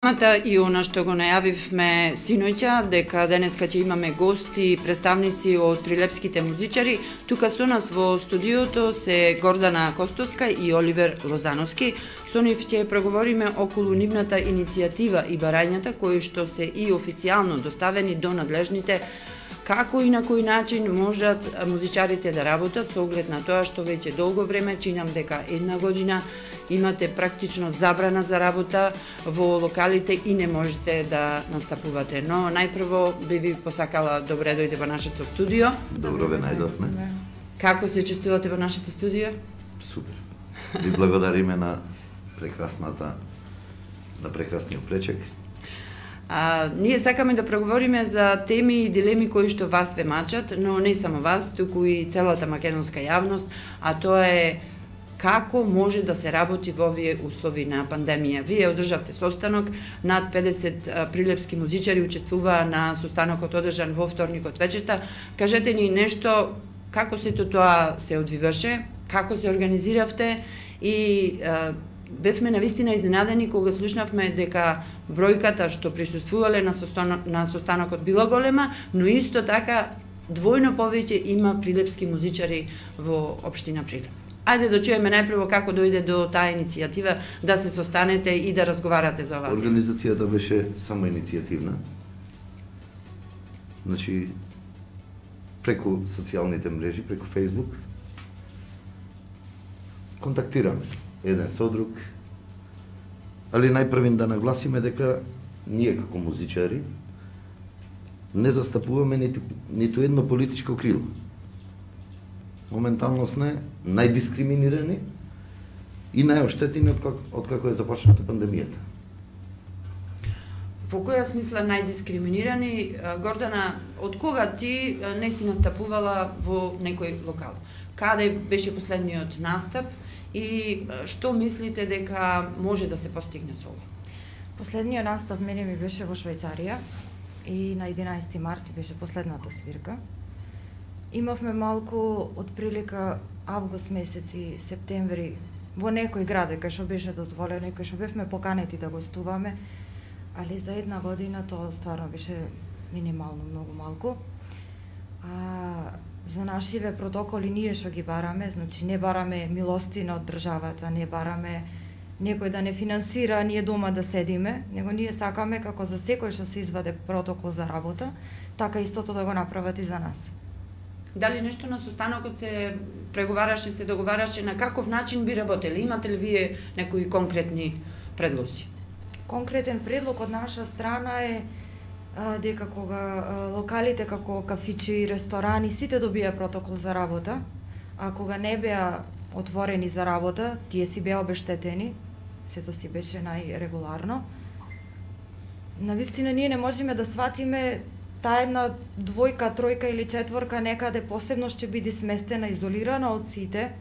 Темата и она што го најавивме синоќа, дека денеска ќе имаме гости, представници од прилепските музичари. Тука со нас во студиото се Гордана Костовска и Оливер Лозановски. Со нив ќе преговориме околу нивната иницијатива и барањата кои што се и официјално доставени до надлежните, како и на кој начин можат музичарите да работат со оглед на тоа што веќе долго време, чинам дека една година, имате практично забрана за работа во локалите и не можете да настапувате. Но најпрво би ви посакала добре дојде во нашето студио. Добро ве најдовме. Како се чувствувате во нашето студио? Супер. Ви благодариме на прекрасниот пречек. Ние сакаме да проговориме за теми и дилеми кои што вас ве мачат, но не само вас, туку и целата македонска јавност, а тоа е како може да се работи во овие услови на пандемија. Вие одржавте состанок, над 50 прилепски музичари учествуваа на состанокот одржан во вторникот вечерта. Кажете ни нешто, како сето тоа се одвиваше, како се организиравте и бевме навистина изненадени кога слушнавме дека бројката што присуствувале на состанокот била голема, но исто така двојно повеќе има прилепски музичари во општина Прилеп. Ајде да чуеме најпрво како дојде до таа иницијатива да се состанете и да разговарате за ова. Организацијата беше само иницијативна. Значи, преку социјалните мрежи, преку Facebook, контактираме еден со друг, али најпрвин да нагласиме дека ние како музичари не застапуваме ниту едно политичко крило. Моментално сме најдискриминирани и најоштетени од како е започната пандемијата. Во која смисла најдискриминирани? Гордана, од кога ти не си настапувала во некој локал? Каде беше последниот настап и што мислите дека може да се постигне со ова? Последниот настап мене ми беше во Швајцарија и на 11 март беше последната свирка. Имавме малку од прилика август месец и септември во некој град кај што беше дозволено и кај што бевме поканети да гостуваме, али за една година тоа стварно беше минимално, многу малку. За нашиве протоколи ние што ги бараме, значи не бараме милостина од државата, не бараме некој да не финансира, ние дома да седиме, него ние сакаме како за секој што се изваде протокол за работа, така истото да го направат и за нас. Дали нешто на состанокот се преговараше, се договараше, на каков начин би работели? Имате ли вие некои конкретни предлози? Конкретен предлог од наша страна е дека кога локалите како кафичи и ресторани сите добија протокол за работа, а кога не беа отворени за работа, тие си беа обештетени, сето си беше најрегуларно. Навистина ние не можеме да сватиме таа една двојка, тројка или четворка некаде посебно ќе биде сместена, изолирана од сите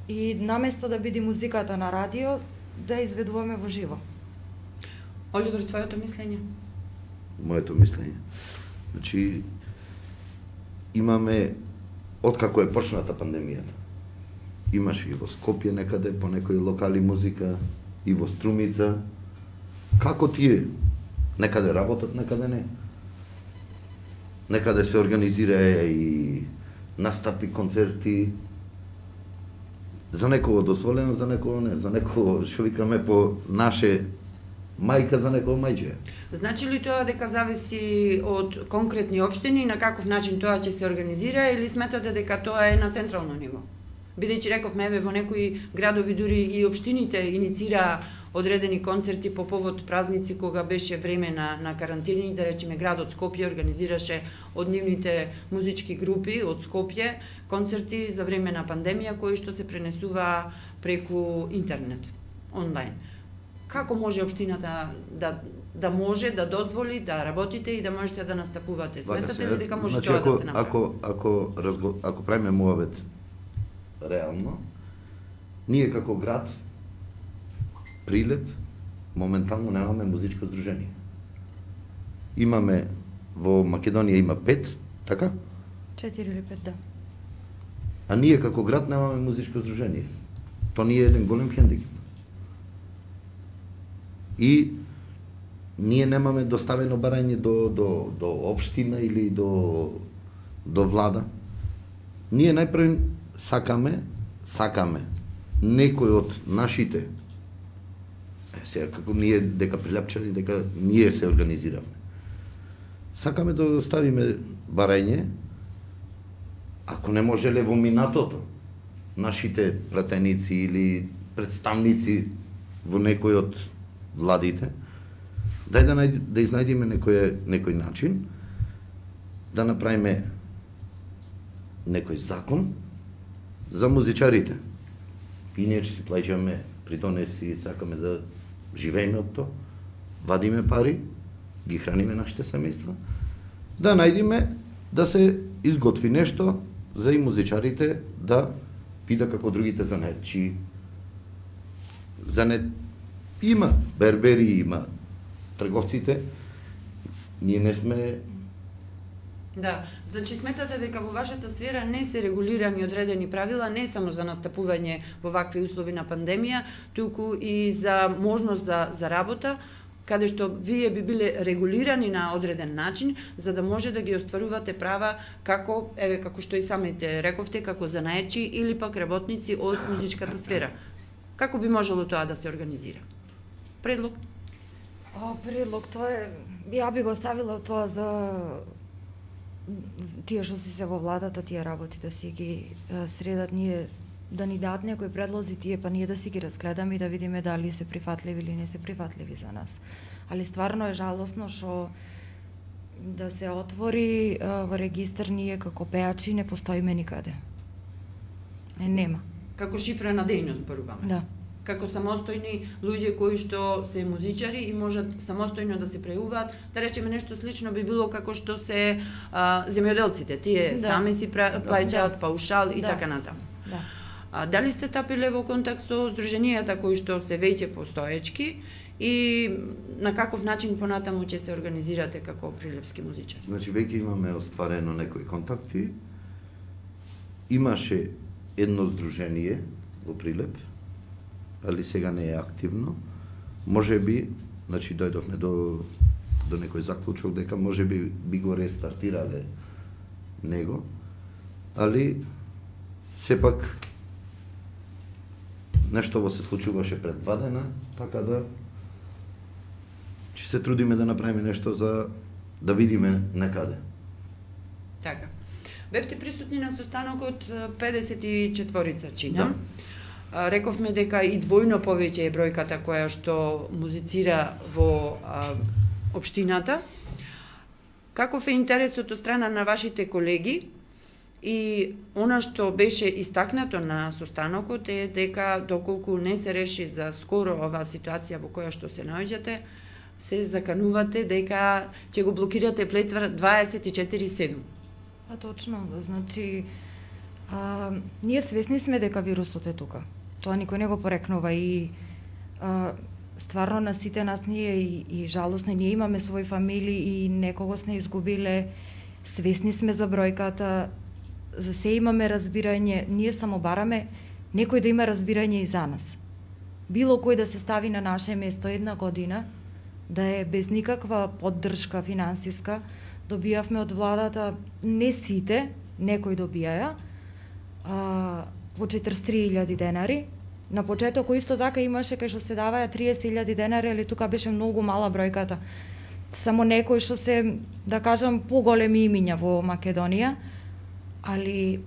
и наместо да биде музиката на радио, да изведуваме во живо. Оливер, твоето мислење? Моето мислење. Значи, имаме, откако е почната пандемијата, имаше и во Скопје некаде, по некои локали музика, и во Струмица. Како тие? Некаде работат, некаде не. Некаде се организира и настапи, концерти. За некого дозволено, за некого не. За некого, што викаме по наше мајка, за некого мајче. Значи ли тоа дека зависи од конкретни општини на каков начин тоа ќе се организира или сметате дека тоа е на централно ниво? Бидејќи рековме во некои градови дури и општините инициираа одредени концерти по повод празници кога беше време на карантини, да речеме градот Скопје организираше од нивните музички групи од Скопје концерти за време на пандемија кои што се пренесуваа преку интернет, онлайн. Како може општината да може да дозволи да работите и да можете да настапувате? Сметате ли дека може тоа да се направи? Ако правиме муавет реално, ние како град Прилеп моментално немаме музичко здружение. Имаме во Македонија има 5, така? 4 или 5, да. А ние како град немаме музичко здружение. Тоа ни е еден голем хендикеп. И ние немаме доставено барање до општина или до влада. Ние најпрво сакаме некој од нашите, сега како ние дека Прилепчани, дека ние се организираме. Сакаме да доставиме барање, ако не можеле во минатото, нашите пратеници или представници во некој од владите, да изнајдеме некој начин, да направиме некој закон за музичарите. И ние си плаќаме, при тоа не си сакаме да живееме од тоа, вадиме пари, ги храниме нашите семејства, да најдеме да се изготви нешто за и музичарите да биде како другите занаетчи. Има бербери, има трговците, ние не сме. Да, значи сметате дека во вашата сфера не се регулирани одредени правила не само за настапување во вакви услови на пандемија, туку и за можност за работа, каде што вие би биле регулирани на одреден начин, за да може да ги остварувате права како што и самите рековте, како занаетчи или пак работници од музичката сфера. Како би можело тоа да се организира? Предлог? Предлог, тоа е, ја би го оставила тоа за тие што си се во владата, тие работи да си ги средат, ние да ни дадат некои предлози тие, па ние да си ги разгледаме и да видиме дали се прифатливи или не се прифатливи за нас. Али стварно е жалосно што да се отвори во регистар ние како пеачи не постоиме никаде. Нема. Како шифра на дејност, зборуваме. Да. Како самостојни луѓе кои што се музичари и можат самостојно да се преуваат, да речеме нешто слично би било како што се земјоделците, тие сами си плаќаат паушал и така натаму. Да. Дали сте стапиле во контакт со здруженијата кои што се веќе постоечки и на каков начин понатаму ќе се организирате како прилепски музичар? Значи веќе имаме остварено некои контакти. Имаше едно здружение во Прилеп, али сега не е активно. Може би, значи дојдовме до некој заклучок дека може би го рестартирале него, али сепак нешто во се случуваше пред 2 дена, така да ќе се трудиме да направиме нешто за да видиме некаде. Така. Бевте присутни на состанокот 54 чинам. Да. Рековме дека и двојно повеќе е бројката која што музицира во општината. Каков е интересот од страна на вашите колеги? И она што беше истакнато на состанокот е дека доколку не се реши за скоро оваа ситуација во која што се наоѓате, се заканувате дека ќе го блокирате плетва 24/7. Точно, значи ние свесни сме дека вирусот е тука. Тоа никој не го порекнува и стварно на сите нас ние и жалосно, ние имаме своји фамилии и некогаш не изгубиле, свесни сме за бројката, за се имаме разбирање, ние само бараме некој да има разбирање и за нас. Било кој да се стави на наше место една година, да е без никаква поддршка финансиска, добијавме од владата, не сите, некои добијаја, по 43.000 денари. На почеток исто така имаше кај што се даваја 30.000 денари, али тука беше многу мала бројката. Само некои што се, да кажам, поголеми имиња во Македонија, али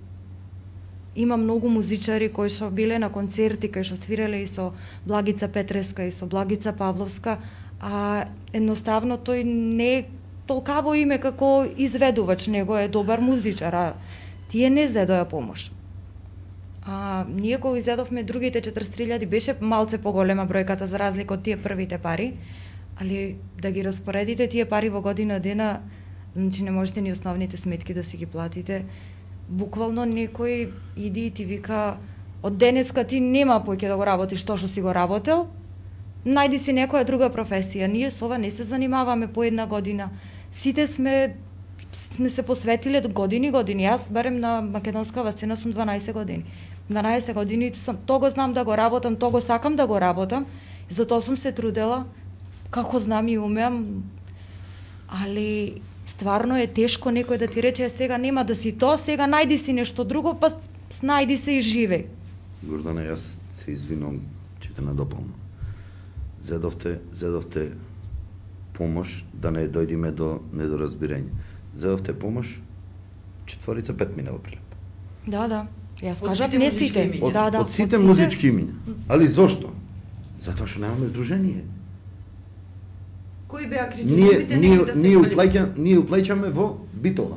има многу музичари кои што биле на концерти, кои што свиреле и со Благица Петреска и со Благица Павловска, а едноставно тој не е толкаво име како изведувач, него е добар музичар, а тие не зедоја помош. Ние кога изедовме другите 43.000 беше малце поголема бројката за разлика од тие првите пари, али да ги распоредите тие пари во година дена, значи не можете ни основните сметки да си ги платите. Буквално некој иди и ти вика од денеска ти нема поќе да го работиш тоа што си го работел, најди си некоја друга професија. Ние со ова не се занимаваме по една година. Сите сме се посветиле години. Јас барем на македонскава сцена сум 12 години. 12 години тоа го знам да го работам, тоа го сакам да го работам, затоа сум се трудела. како знам и умеам, али стварно е тешко некој да ти рече сега нема да си тоа, сега најди си нешто друго, па најди се и живеј. Гордана, јас се извинувам, ќе те надополнам. Зедовте помош да не дојдеме до недоразбирање. Зедовте помош 4-5 мина во Прилеп. Да. Јас кажав не сите. Од сите музички имиња. Али зошто? Затоа што немаме здружение. Кои беа критериумите Ние уплаќаме во Битола.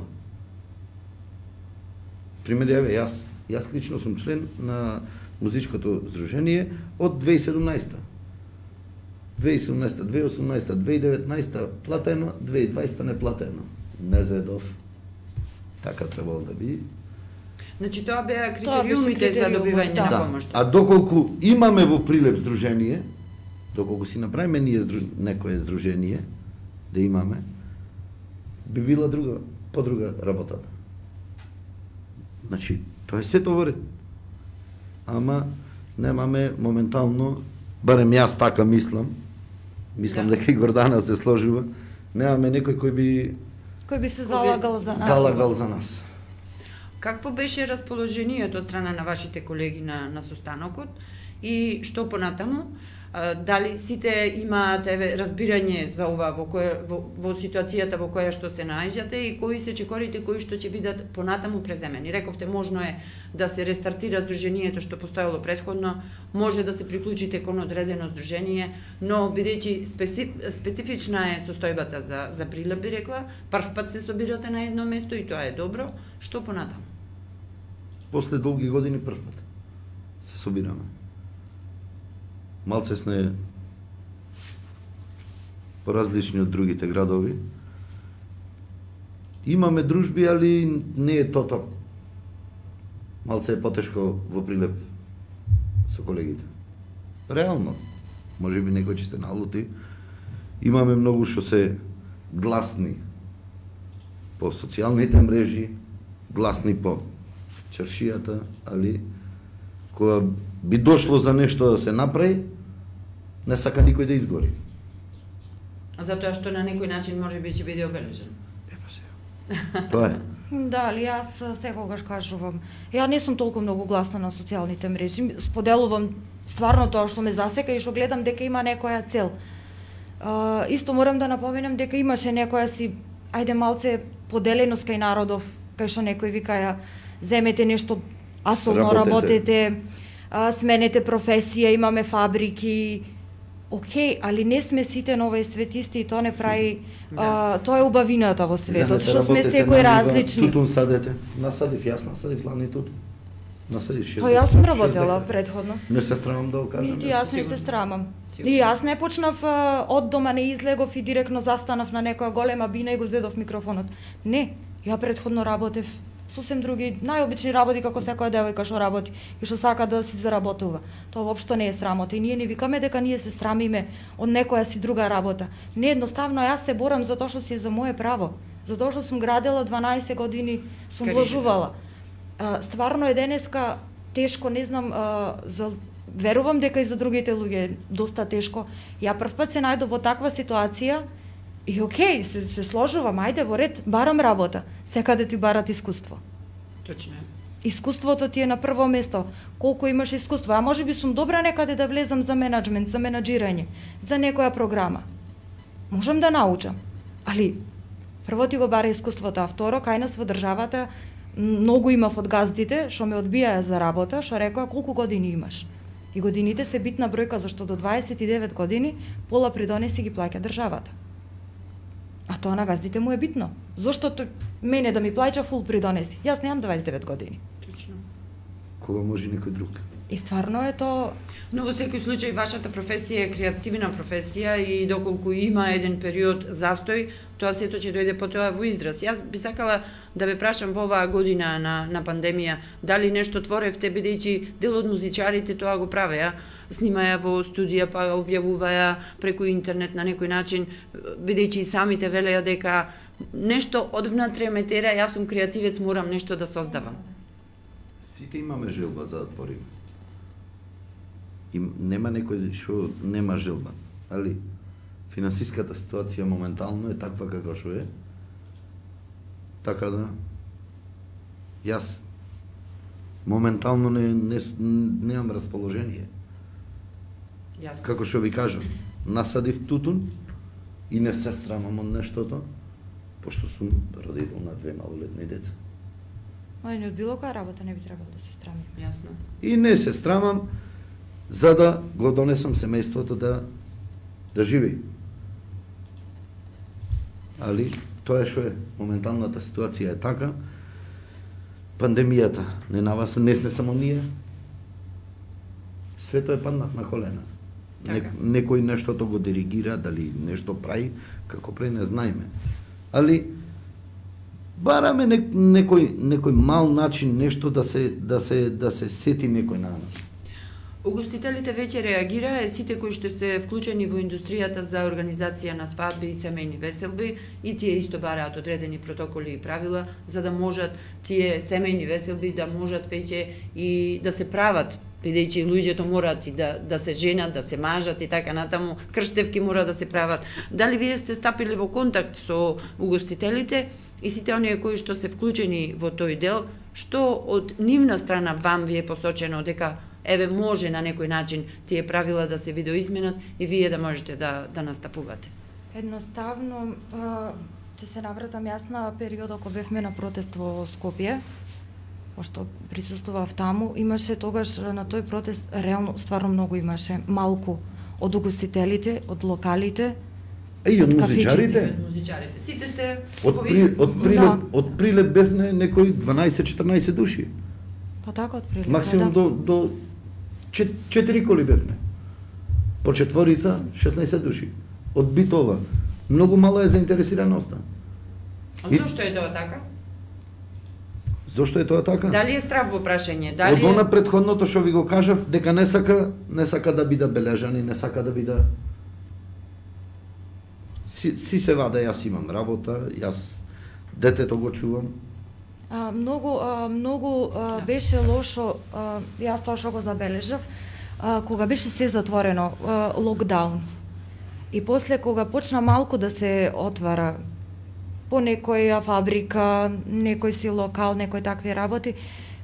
Пример, јас лично сум член на музичкото здружение од 2017. 2017, 2018, 2019 платено, 2020 не платено. Не зедов. Така требало да биде. Значи тоа беа критериумите за добивање на помош. А доколку имаме во Прилеп здружение, доколку си направиме ние некое здружение, да имаме, би била подруга работата. Значи, тоа е сето во ред. Ама немаме моментално, барем јас така мислам дека и Гордана се сложува, немаме некој кој би се залагал за нас. Какво беше расположението од страна на вашите колеги на состанокот и што понатаму? Дали сите имаат разбирање за ова во ситуацијата во која што се наоѓате и кои се чекорите кои што ќе бидат понатаму преземени? Рековте можно е да се рестартира здружението што постоело претходно, може да се приклучите кон одредено здружение, но бидејќи специфична е состојбата за Прилеп, би рекла, прв пат се собирате на едно место и тоа е добро, што понатаму? После долги години прв пат се собираме. Малце сме поразлични од другите градови. Имаме дружби, али не е тоа. Малце е потешко во Прилеп со колегите. Реално. Може би некој ќе се налути. Имаме многу што се гласни по социјалните мрежи, гласни по чаршијата, али кога би дошло за нешто да се направи, не сака никој да изгори. Затоа што на некој начин може би ќе биде обележен. Тоа е. Да, али јас секогаш кажувам, ја не сум толку многу гласна на социјалните мрежи, споделувам стварно тоа што ме засека и што гледам дека има некоја цел. Исто морам да напоменам дека имаше некоја си, ајде малце поделеност кај народов, кај што некој вика земете нешто асолно, работете, сменете професија, имаме фабрики. Океј, али не сме сите на овој свет исти и тоа не прави, тоа е убавината во светот, што сме секој различни. Тутун садете, насадив, јас насадив лани тутун. Насадив Тоа јас сум работела предходно. Не се страмам да го кажам. Нити јас не се страмам. И јас не почнав од дома, не излегов и директно застанав на некоја голема бина и го зедов микрофонот. Не, ја предходно работев сосем други, најобични работи како секоја девојка што работи и што сака да си заработува. Тоа воопшто не е срамота и ние не викаме дека ние се срамиме од некоја си друга работа. Не, едноставно јас се борам за тоа што си е за мое право, за тоа што сум градела 12 години, сум вложувала. Стварно е денеска тешко, не знам, верувам дека и за другите луѓе е доста тешко. Ја прв пат се најдов во таква ситуација и окей, се сложувам, ајде во ред, барам работа. Секаде ти барат искуство. Точно е. Искуството ти е на прво место. Колку имаш искуство, а може би сум добра некаде да влезам за менаџмент, за менаџирање, за некоја програма. Можам да научам, али прво ти го бара искуството, а второ, кај нас во државата многу имав од газдите што ме одбијаја за работа, што рекоа колку години имаш. И годините се битна бројка, зашто до 29 години пола придонеси ги плаќа државата. А тоа на газдите му е битно. Зошто мене да ми плаќа фул придонеси? Јас немам 29 години. Точно. Кога може некој друг? И стварно е тоа. Но во секој случај вашата професија е креативна професија и доколку има еден период застој, тоа сето ќе дојде потоа во израз. Јас би сакала да ве прашам во оваа година на пандемија, дали нешто творевте, бидејќи дел од музичарите тоа го правеа, снимаја во студија, па објавуваја преку интернет на некој начин, бидејќи и самите велеа дека нешто одвнатре ме тера, јас сум креативец, морам нешто да создавам. Сите имаме желба за да твориме. И нема некој што нема желба, али финансиската ситуација моментално е таква како што е. Така да јас моментално немам расположение. Јасно. Како што ви кажав, насадив тутун и не се срамам од нештото, пошто сум родител на 2 малолетни деца. Од било која работа не би требало да се страми. Јасно. И не се страмам за да го донесам семејството да живи. Али тоа е што е. Моменталната ситуација е така. Пандемијата не наваса, не само ние. Свето е паднат на колена. Така. Некој нештото го диригира, дали нешто прави, како прави не знаеме. Али бараме некој мал начин нешто да се сети некој на нас. Угостителите веќе реагираа, сите кои што се вклучени во индустријата за организација на свадби и семејни веселби, и тие исто бараат одредени протоколи и правила за да можат тие семејни веселби да можат веќе и да се прават, бидејќи луѓето мораат и да се женат, да се мажат и така натаму, крштевки мора да се прават. Дали вие сте стапиле во контакт со угостителите и сите оние кои што се вклучени во тој дел, што од нивна страна вам ви е посочено дека еве може на некој начин тие правила да се видоизменат и вие да можете да настапувате? Едноставно, ќе се навратам јас на периодот кога бевме на протест во Скопје, пошто присуствував таму, имаше тогаш на тој протест реално стварно многу имаше, малку од угостителите, од локалите, И од кафичите. музичарите. Сите сте Од Прилеп бевне некои 12-14 души. па така од прилика. Максимум до 4 коли бевне. По четворица 16 души. Од Битола. Многу мала е заинтересираноста. Зошто е тоа така? Зошто е тоа така? Дали е страв во прашање? Од она претходното што ви го кажав, дека не сака да биде бележани, не сака да биде. Си се вада, јас имам работа, јас детето го чувам. Многу беше лошо, јас тоа што го забележав, кога беше се затворено, локдаун. И после кога почна малку да се отвара по некоја фабрика, некој си локал, некој такви работи,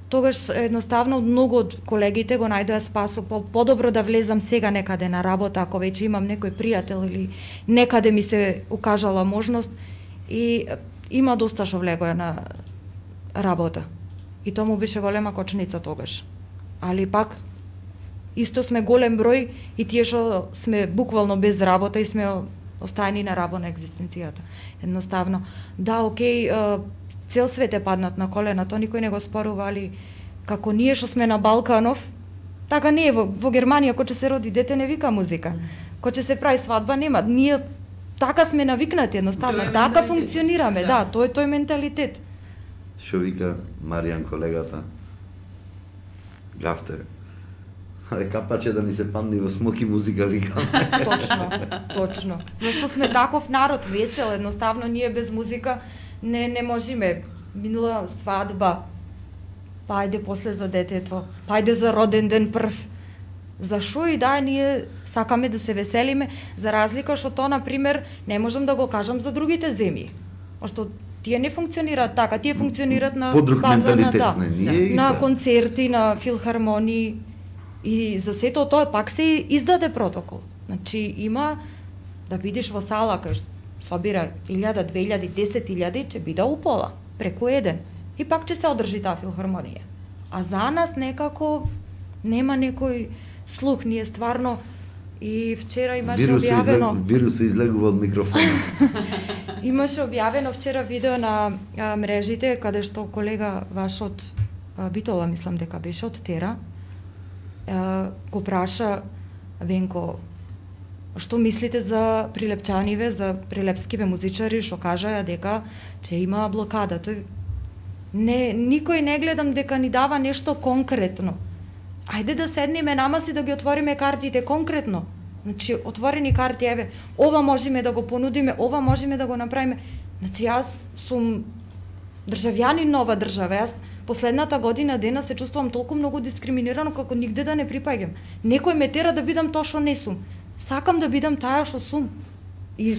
тогаш едноставно многу од колегите го најдоа спасо, подобро да влезам сега некаде на работа, ако веќе имам некој пријател или некаде ми се укажала можност, и има доста што влегоа на работа. И тоа му беше голема кочница тогаш. Али пак исто сме голем број и тие што сме буквално без работа и сме остаени на рабо на екзистенцијата. Едноставно, да, окей, цел свет е паднат на колена, тоа никој не го спорува, али како ние што сме на Балканов, така не е во Германија, кога ќе се роди дете не вика музика. Кога ќе се прави свадба нема. Ние така сме навикнати, едноставно, така функционираме, да, тоа е тој менталитет. Што вика Маријан колегата? Гафте. Капаче да ни се падни во смоки музика, викам. Точно. Зашто сме таков народ весел, едноставно ние без музика не можеме. Минала свадба, па ајде после за детето, па ајде за роден ден прв. Зашо и да ние сакаме да се веселиме, за разлика што тоа, например, не можам да го кажам за другите земји. Што тие не функционираат така, тие функционираат на база на концерти, на филхармонии. И за сето тоа пак се издаде протокол. Значи има да бидеш во сала кај собира 1000, 2000, 10.000, ќе биде упола, преку еден. И пак ќе се одржи таа филхармонија. А за нас некако нема некој слух, ние стварно. И вчера имаше објавено... Вирусот излегува од микрофонот. Имаше објавено вчера видео на мрежите, каде што колега ваш од Битола, мислам дека беше од Тера, го праша Венко, што мислите за прилепчаниве, за прилепскиве музичари, што кажаа дека ќе има блокада. Тој никој не гледам дека ни дава нешто конкретно. Ајде да седнеме намас и да ги отвориме картите конкретно. Значи, отворени карти, еве, ова можеме да го понудиме, ова можеме да го направиме. Значи, јас сум државјанин на ова држава. Јас последната година дена се чувствувам толку многу дискриминирано како нигде да не припаѓам. Некој ме тера да бидам тоа што не сум. Сакам да бидам таа што сум. И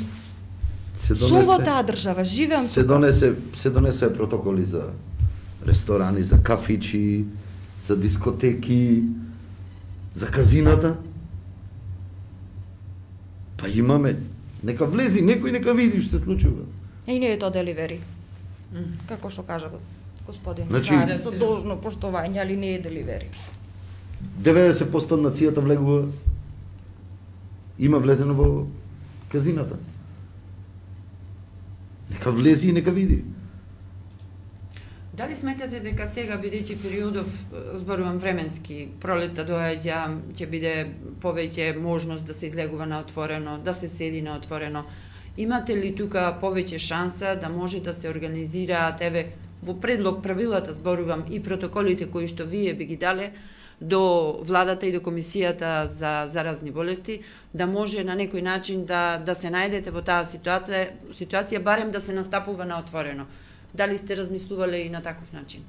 сум во таа држава, живеам се донесе протоколи за ресторани, за кафичи, за дискотеки, за казината. Па имаме, нека влези, некој нека види што се случува. И не е тоа деливери. Како што кажа господин, Значи, со должно поштовање, али не е деливери. 90% од нацијата влегува, има влезено во казината. Нека влези и нека види. Дали сметате дека сега, бидејќи периодов, зборувам временски, пролетта доаѓа, ќе биде повеќе можност да се излегува на отворено, да се седи на отворено, имате ли тука повеќе шанса да може да се организираат, во предлог правилата зборувам и протоколите кои што вие би ги дале до владата и до комисијата за заразни болести, да може на некој начин да се најдете во таа ситуација барем да се настапува на отворено? Дали сте размислувале и на таков начин?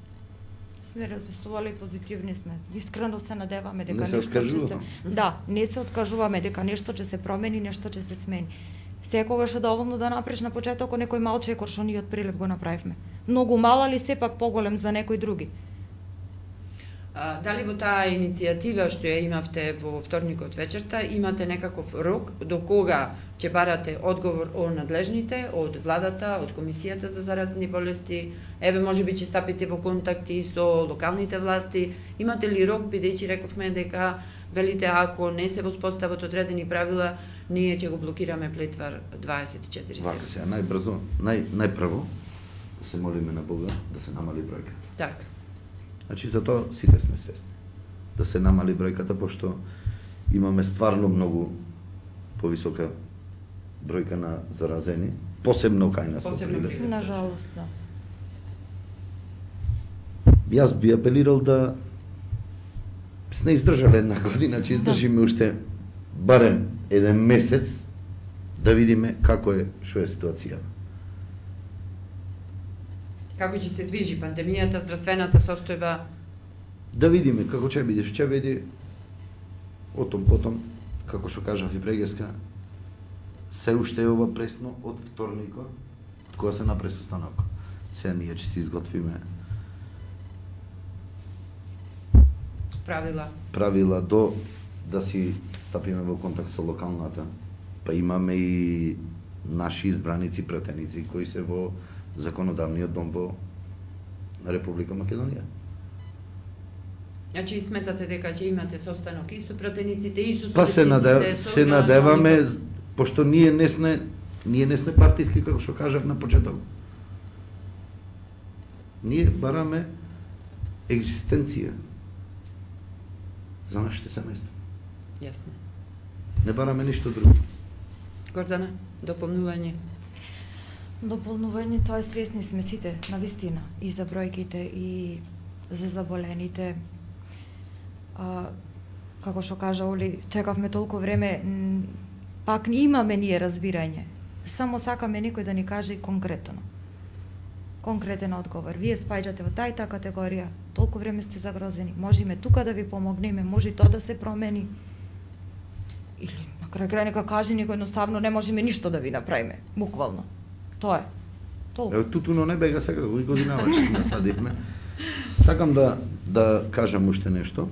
Сме размислувале и позитивни сме. Искрено се надеваме дека не се откажуваме. Да, не се откажуваме дека нешто ќе се промени, нешто ќе се смени. Секогаш е доволно да направиш на почетокот некој мал чекор што ние од прилеп го направивме. Многу мал, али сепак поголем за некои други. Дали во таа иницијатива што ја имавте во вторникот вечерта, имате некаков рок до кога ќе барате одговор од надлежните, од владата, од комисијата за заразни болести, можеби ќе стапите во контакти со локалните власти, имате ли рок, бидејќи рековме дека велите ако не се воспостават одредени правила, ние ќе го блокираме Плетвар 24/7. Вака сега, најбрзо, најпрво да се молиме на Бога да се намали бројката. Така. Значи за тоа сите сме свесни. Да се намали бројката, пошто имаме стварно многу повисока бројка на заразени, посебно кај нас во Прилеп. На жалост, да. Јас би апелирал да сме издржале една година, че издржиме уште барем еден месец да видиме како е, што е ситуација. Како ќе се движи пандемијата, здравствената состојба? Да видиме како ќе биде, отом потом, како што кажав и прегеска, се уште е ова пресно од вторникот, кога се направи состанок. Сега ние ќе се изготвиме правила до да си стапиме во контакт со локалната, па имаме и наши избраници пратеници кои се во законодавниот дом во Република Македонија. Значи сметате дека ќе имате состанок и со пратениците и со Па се надеваме, пошто ние не сме партиски, како што кажав на почеток. Ние бараме екзистенција за нашите семејства. Јасно. Не бараме ништо друго. Гордана, дополнување? Дополнување, тоа свесни сме сите, на вистина, и за бројките, и за заболените. Како што кажа Оли, чекавме толку време, пак имаме ние разбирање. Само сакаме некој да ни каже конкретно. Конкретен одговор. Вие спаѓате во таа и таа категорија, толку време сте загрозени, можеме тука да ви помогнеме, може и тоа да се промени. Или на крај нека каже некој едноставно не можеме ништо да ви направиме, буквално. Тоа е. Толку. Ево тутуно не бега сега, кој годинава че насадивме. Сакам да кажам уште нешто.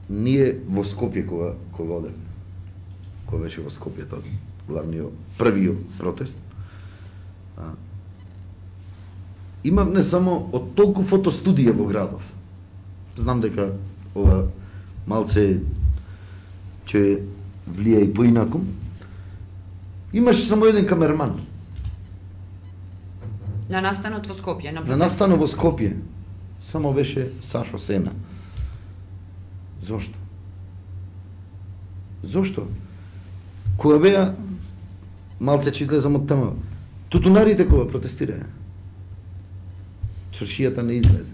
Ние во Скопје кога одевме, кога беше во Скопје тоа првиот протест, имав не само од толку фотостудија во градов. Знам дека ова малце ќе влие и поинаку. Имаше само еден камерман. На настанот во Скопје, на настанот во Скопје. Само беше Сашо Сена. Зошто? Зошто? Кога беа, малце че излезам од тема, тутунарите кога протестираја, чаршијата не излезе.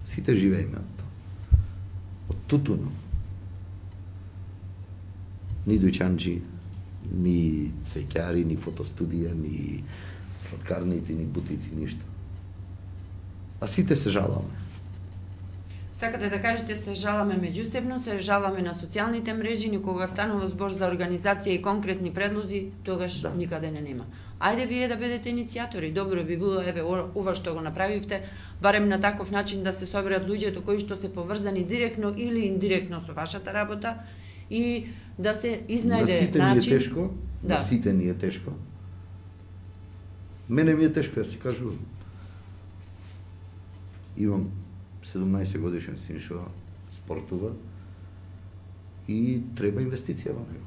Сите живееме од тоа. Од тутуно. Ни дуќанџи, ни цвеќари, ни фотостудија, ни сладкарници, ни бутици, ништо. А сите се жаламе. Сакате да кажете се жаламе меѓусебно, се жаламе на социјалните мрежи, но кога станува збор за организација и конкретни предлози, тогаш никаде не нема. Ајде вие да бидете иницијатори. Добро би било, еве, ова што го направивте, барем на таков начин да се соберат луѓето кои што се поврзани директно или индиректно со вашата работа и да се изнајде начин. На сите ни е тешко, на сите ни е тешко. Мене ми е тешко, јас си кажувам. Имам 17 годишен син што спортува и треба инвестиција во него.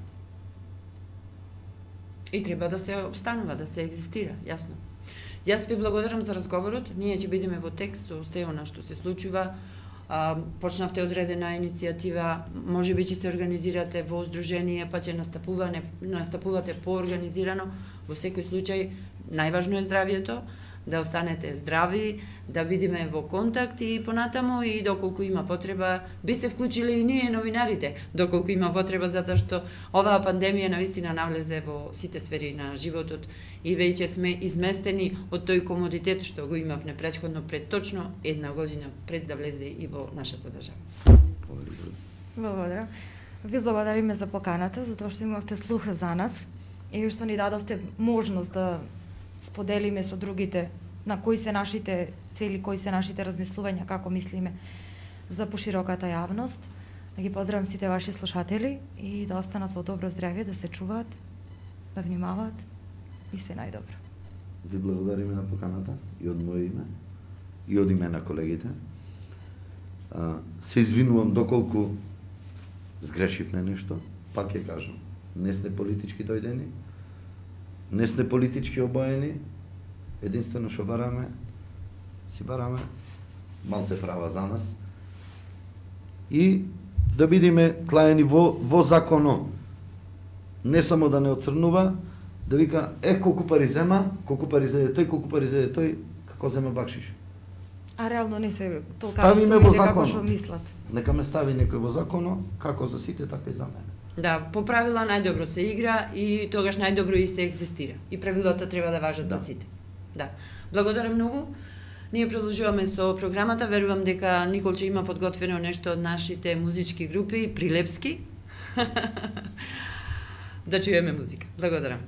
И треба да се обстанува, да се екзистира, јасно. Јас ви благодарам за разговорот. Ние ќе бидеме во текст со се она што се случува. Почнавте одредена иницијатива, можеби ќе се организирате во здружение, па ќе настапувате поорганизирано. Во секој случај, најважно е здравието, да останете здрави, да бидеме во контакт и понатаму и доколку има потреба, би се вклучиле и ние новинарите, доколку има потреба, затоа што оваа пандемија навистина навлезе во сите сфери на животот и веќе сме изместени од тој комодитет што го имавме претходно пред точно една година пред да влезе и во нашата држава. Благодарам. Ви благодариме за поканата, затоа што имавте слуха за нас и што ни дадовте можност да споделиме со другите на кои се нашите цели, кои се нашите размислувања, како мислиме за пошироката јавност. Да ги поздравам сите ваши слушатели и да останат во добро здравје, да се чуваат, да внимаваат и се најдобро. Ви благодариме на поканата и од моје име и од име на колегите. Се извинувам доколку сгрешивме нешто, пак ќе кажам, не сме политички дојдени, не сме политички обоени, единствено што си бараме малце права за нас и да бидеме клаени во законо. Не само да не оцрнува, да вика, колку пари зема, колку пари зеде тој, колку пари зеде тој, како зема бакшиш. А реално не се толка ставиме во како што мислат. Нека ме стави некој во законо, како за сите, така и за мене. Да, по правила најдобро се игра и тогаш најдобро и се екзистира. И правилата треба да важат за сите. Да. Благодарам многу. Ние продолжуваме со програмата. Верувам дека Николче има подготвено нешто од нашите музички групи, прилепски. Да чуеме музика. Благодарам.